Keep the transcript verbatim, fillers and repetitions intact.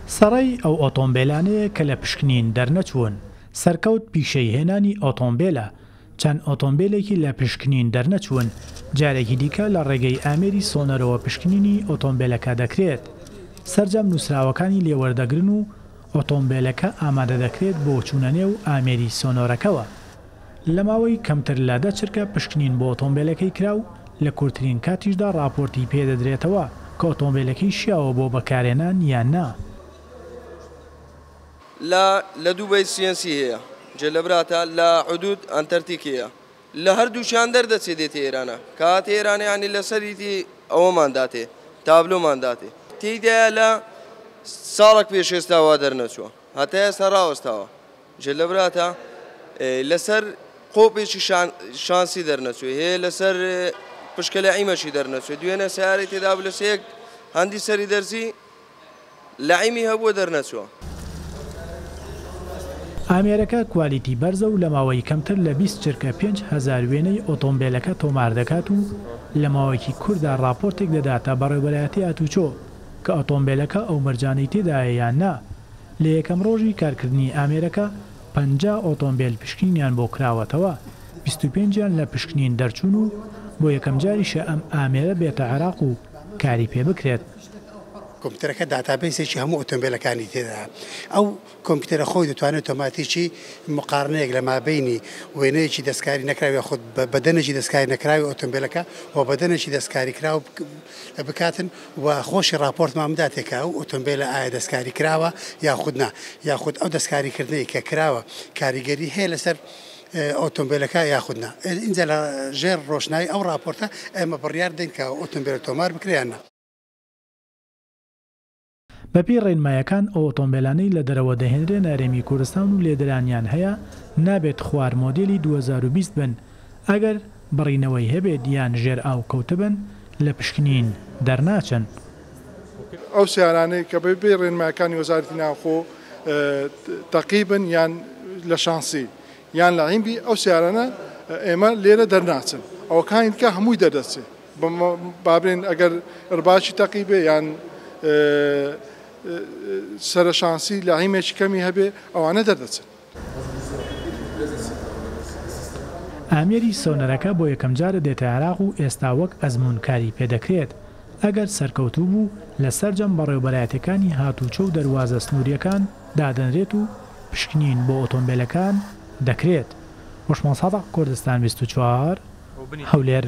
سەڕەی ئەو ئۆتۆمبێلانەیە کە لە پشکنین دەرنەچوون. سەرکەوت پیشەی هێنانی ئۆتۆمبێلە، چەند ئۆتۆمبێلێکی لە پشکنین دەرنەچوون، جارێکی دیکە لە ڕێگەی ئامێری سۆنەرەوە پشکنینی ئۆتۆمبێلەکە دەکرێت. سەرجەم نووسراوەکانی لێوەردەگرن و ئۆتۆمبێلەکە ئامادە دەکرێت بۆ چوونە نێو ئامێری سۆنۆرەکەوە. لە ماوەی کەمتر لە دە چرکە پشکنین بۆ ئۆتۆمبێلەکەی کرا و لە کورتترین کاتیشدا ڕاپۆرتی پێدەدرێتەوە کە ئۆتۆمبێلەکەی شیاوە بۆ بەکارهێنان یان نا. لە لە دووبەی سیەنسی هەیە، جێ لە براتە لە حدود ئەنتەرتیک هەیە، لە هەردووشیان دەردەچێ دێتێ ئێرانە، کاتێ ئێرانە یانی لەسەریتی ئەوەمان داتێ، تابلۆمان داتێ. تێیدایە لە ساڵێک پێش ئێستا وا دەرنەچووە، هەتا ئێستا ڕاوەستاوە. جێ لە براتە لەسەر قۆپێکی شانسی دەرنەچووە، هەیە لەسەر پشکە لە عیمەشی دەرنەچووە. دوێنێ سیارەی تێدا بوو لەسەر یەک هەندی سەری دەرزی لە عیمی هەبووە دەرنەچووە. ئامێرەکە کوالیتی بەرزە و لە ماوەی کەمتر لە بیست چرکە پێنج هەزار وێنەی ئۆتۆمبێلەکە تۆمار دەکات و لە ماوەیەکی کووردا ڕاپۆرتێک دەداتە بەڕێوەبەرایەتی هاتوچۆ کە ئۆتۆمبێلەکە ئەو مەرجانەی تێدایە یان نا. لە یەکەم ڕۆژی کارکردنی ئامێرەکە پەنجا ئۆتۆمبێل پشکنینیان بۆ کراوەتەوە، بیست و پێنجیان لە پشکنین دەرچوون و بۆ یەکەم جاریشە ئەم ئامێرە بێتە عێراق و کاری پێ بکرێت. کۆمپیوتەرەکە داتابەیسێکی هەموو ئۆتۆمبیلەکانی تێدا. ئەو کۆمپیوتەرە خۆی دەتوانێت ئۆتۆماتیکی مقارنەیەک لە مابینی وێنەیەکی دەستکاری نەکراوی خود بەدەنێکی دەستکاری نەکراوی ئۆتۆمبیلەکە و بەدەنێکی دەستکاری کراو بکاتن و خۆشی راپۆرتمان بداتێکە ئەو ئۆتۆمبیلە ئایا دەستکاری کراوە یاخود نا، یاخود ئەو دەستکاریکردنەی کە کراوە کاریگەری هەیە لەسەر ئۆتۆمبیلەکە یاخود نا. ئینجا لە ژێر ڕۆشنایی ئەو راپۆرتە ئێمە بڕیار دەین کە ئۆتۆمبیل تۆمار بکرێ یان نا. بەپێی ڕێنمایەکان ئەو ئۆتۆمبیلانەی لە دەرەوە دەهێنرێن هەرێمی کوردستان و لێدرانیان هەیە نابێت خوار مۆدێلی دوو هەزار و بیست بن، ئەگەر بڕینەوەی هەبێت یان ژێر ئاو کەوتبن لە پشکنین دەرناچن. ئەو سیارانەی کە بەپێی ڕێنمایەکانی وەزارەتی ناوخۆ تەقیبن یان لە شانسی یان لە عیمبی، ئەو سیارانە ئێمە لێرە دەرناچن، ئەوەکانی دیکە هەمووی دەردەچێت. بابرێن ئەگەر ڕباچی تەقیبێ یان سەرە شانسی لە عیمێکی کەمی هەبێ ئەوانە دەردەچن. ئامێری سۆنەرەکە بۆ یەکەم جارە دێتە عێراق و ئێستا وەک ئەزمونکاری پێدەکرێت. ئەگەر سەرکەوتوو بوو لە سەرجەم بەڕێوەبەرایەتەکانی هاتوچۆ و دەروازە سنووریەکان دادەنرێت و پشکنین بۆ ئۆتۆمبیلەکان دەکرێت. هۆشمان سادق، کوردستان بیست و چوار، هەولێر.